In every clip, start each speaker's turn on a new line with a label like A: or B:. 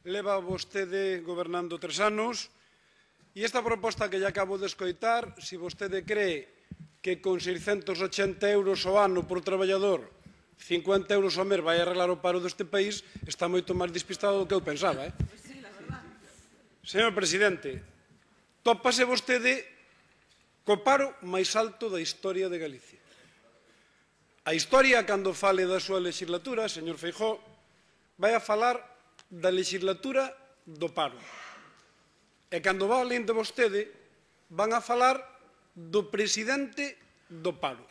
A: Leva vostede gobernando 3 anos e esta proposta que lle acabo de escoitar, se vostede cree que con 680 euros ao ano por traballador, 50 euros ao mes vai arreglar o paro deste país, está moito máis despistado do que eu pensaba. Señor presidente, tópase vostede co paro máis alto da historia de Galicia. A historia, cando fale da súa legislatura, señor Feijóo, vai a falar da legislatura do paro. E cando va alén de vostede, van a falar do presidente do paro.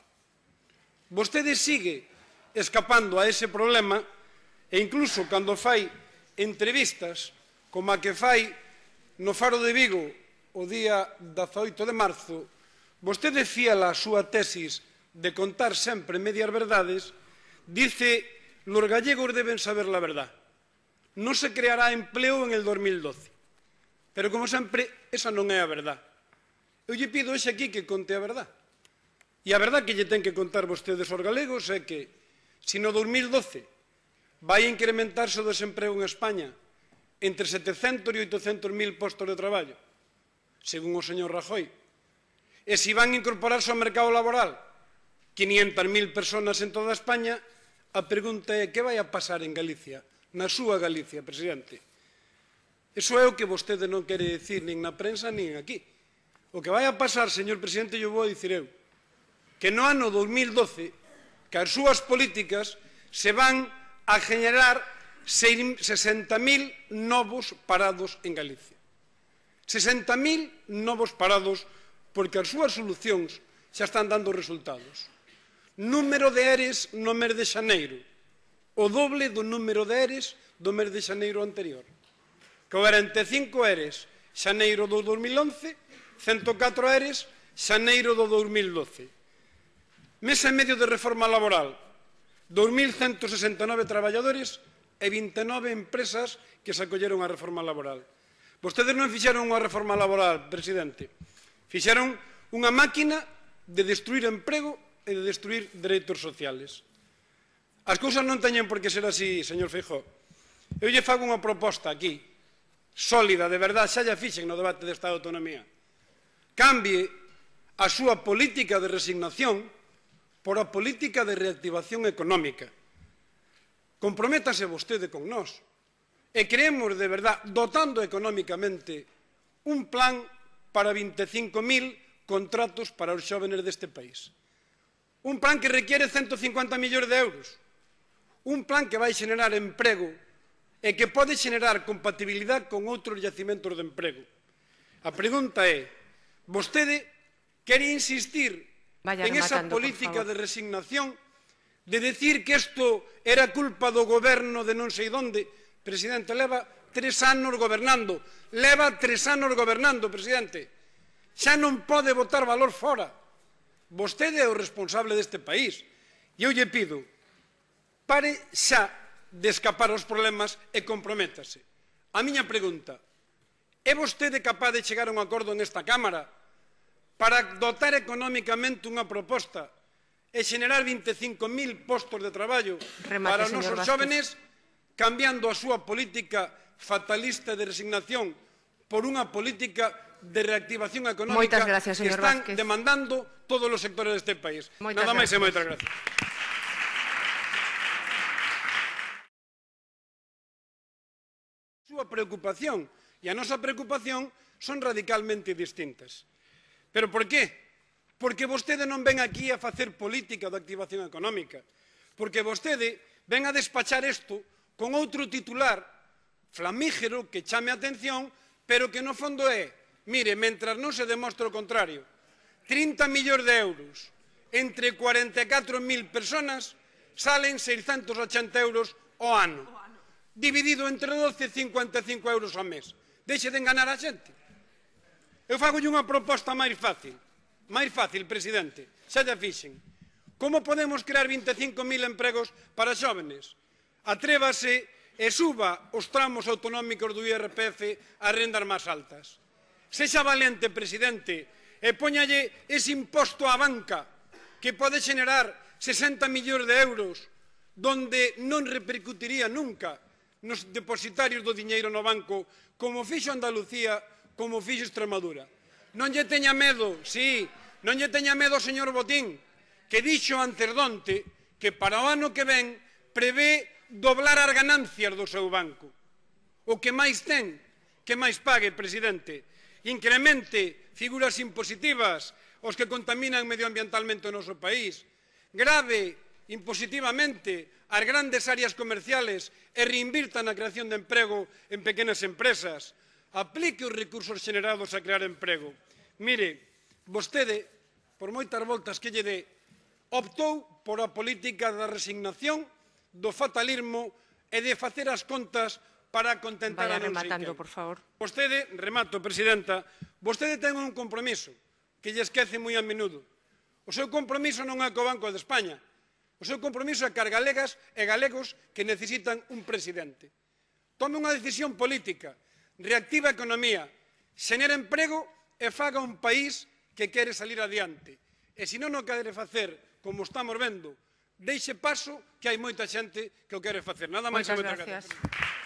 A: Vostede sigue escapando a ese problema e incluso cando fai entrevistas como a que fai no Faro de Vigo o día 18 de marzo, vostede fiela a súa tesis de contar sempre medias verdades, dice: los gallegos deben saber la verdad. No se creará empleo en el 2012. Pero, como sempre, esa non é a verdad. Eu lle pido hoxe aquí que conte a verdad. E a verdad que lle ten que contar vostedes aos galegos é que, se no 2012 vai incrementarse o desemprego en España entre 700 e 800 mil postos de traballo, según o señor Rajoy, e se van incorporarse ao mercado laboral 500.000 personas en toda España, a pregunta é: que vai a pasar en Galicia? Na súa Galicia, presidente. Iso é o que vostede non quere dicir nin na prensa nin aquí. O que vai a pasar, señor presidente, eu vou a dicir eu, que no ano 2012, que as súas políticas se van a generar 60.000 novos parados en Galicia. 60.000 novos parados porque as súas solucións xa están dando resultados. Número de ERES no mes de xaneiro, o doble do número de ERES do mes de xaneiro anterior. 45 ERES xaneiro do 2011, 104 ERES xaneiro do 2012. Mes e medio de reforma laboral, 2.169 traballadores e 29 empresas que se acolleron á reforma laboral. Vostedes non fixeron unha reforma laboral, presidente. Fixeron unha máquina de destruir emprego e de destruir dereitos sociales. As cousas non teñen por que ser así, señor Feijóo. Eu lle fago unha proposta aquí, sólida, de verdade, xa lla fixen no debate de Estado de Autonomía. Cambie a súa política de resignación por a política de reactivación económica. Comprométase vostede con nós e creemos, de verdade, dotando económicamente un plan para 25.000 contratos para os xóvenes deste país. Un plan que requiere 150 millóns de euros. Un plan que vai xenerar emprego e que pode xenerar compatibilidade con outros yacimentos de emprego. A pregunta é: vostede quere insistir en esa política de resignación, de decir que isto era culpa do goberno de non sei onde? Presidente, leva 3 anos gobernando. Leva 3 anos gobernando, presidente. Xa non pode botar valor fora. Vostede é o responsable deste país. E eu lle pido: pare xa de escapar aos problemas e comprométase. A miña pregunta: é vostede capaz de chegar a un acordo nesta Cámara para dotar económicamente unha proposta e xenerar 25.000 postos de traballo para os nosos xóvenes, cambiando a súa política fatalista de resignación por unha política de reactivación económica que están demandando todos os sectores deste país? Nada máis e moitas gracias. A súa preocupación e a nosa preocupación son radicalmente distintas. Pero por qué? Porque vostede non ven aquí a facer política de activación económica. Porque vostede ven a despachar isto con outro titular flamígero que chame a atención, pero que no fondo é: mire, mentras non se demostre o contrario, 30 millóns de euros entre 44.000 personas salen 680 euros ao ano. Dividido entre 12, 55 euros ao mes. Deixe de enganar a xente. Eu fagolle unha proposta máis fácil, presidente, xa lla fixen. Como podemos crear 25.000 empregos para xóvenes? Atrévase e suba os tramos autonómicos do IRPF ás rendas máis altas. Sexa valente, presidente, e póñalle ese imposto á banca que pode xenerar 60 millóns de euros, donde non repercutiría nunca nos depositarios do diñeiro no banco, como fixo Andalucía, como fixo Extremadura. Non lle teña medo, sí, non lle teña medo o señor Botín, que dixo antes donte que para o ano que ven prevé doblar as ganancias do seu banco. O que máis ten, que máis pague, presidente. Incremente figuras impositivas os que contaminan medioambientalmente o noso país. Grave impositivamente as grandes áreas comerciales e reinvirta na creación de emprego en pequenas empresas. Aplique os recursos xenerados a crear emprego. Mire, vostede, por moitas voltas que lle dé, optou por a política da resignación, do fatalismo e de facer as contas para contentar a non sei quen.
B: Por favor.
A: Vostede, remato, presidenta, vostede ten un compromiso que lle esquece moi a menudo. O seu compromiso non é co Banco de España. O seu compromiso é cas galegas e galegos que necesitan un presidente. Tome unha decisión política, reactiva a economía, xenera emprego e faga un país que quere salir adiante. E se non o quere facer, como estamos vendo, deixe paso que hai moita xente que o quere facer. Nada máis e moitas gracias.